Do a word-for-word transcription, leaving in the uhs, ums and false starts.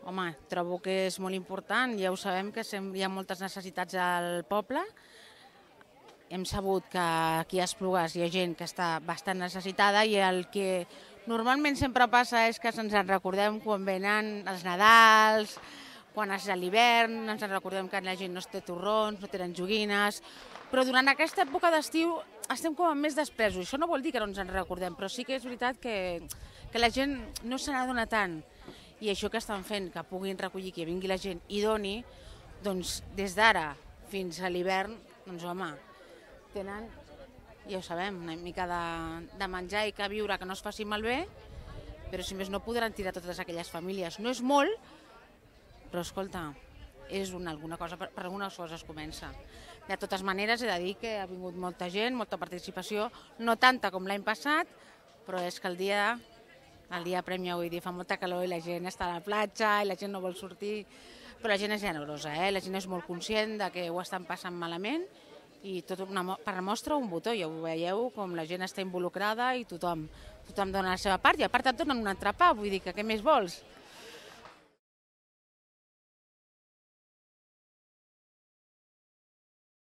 Home, trobo que és molt important, ja ho sabem que hi ha moltes necessitats al poble. Hem sabut que aquí a Esplugues hi ha gent que està bastant necessitada i el que normalment sempre passa és que ens en recordem quan venen els Nadals, quan és l'hivern, ens en recordem que la gent no té torrons, no tenen joguines, però durant aquesta època d'estiu estem com amb més despresos. Això no vol dir que no ens en recordem, però sí que és veritat que, que la gent no se n'adona tant. I això que estan fent, que puguin recollir, que vingui la gent i doni, doncs des d'ara fins a l'hivern, doncs home, tenen, ja ho sabem, una mica de, de menjar i que viure, que no es faci malbé, però si més no podran tirar totes aquelles famílies. No és molt, però escolta, és una, alguna cosa, per, per algunes coses es comença. De totes maneres he de dir que ha vingut molta gent, molta participació, no tanta com l'any passat, però és que el dia... El dia prèmia, vull dir, fa molta calor i la gent està a la platja i la gent no vol sortir, però la gent és generosa, eh? La gent és molt conscient de que ho estan passant malament i tot una, per mostra un botó, ja ho veieu, com la gent està involucrada i tothom, tothom dona la seva part i a part et donen un entrepà, vull dir que què més vols?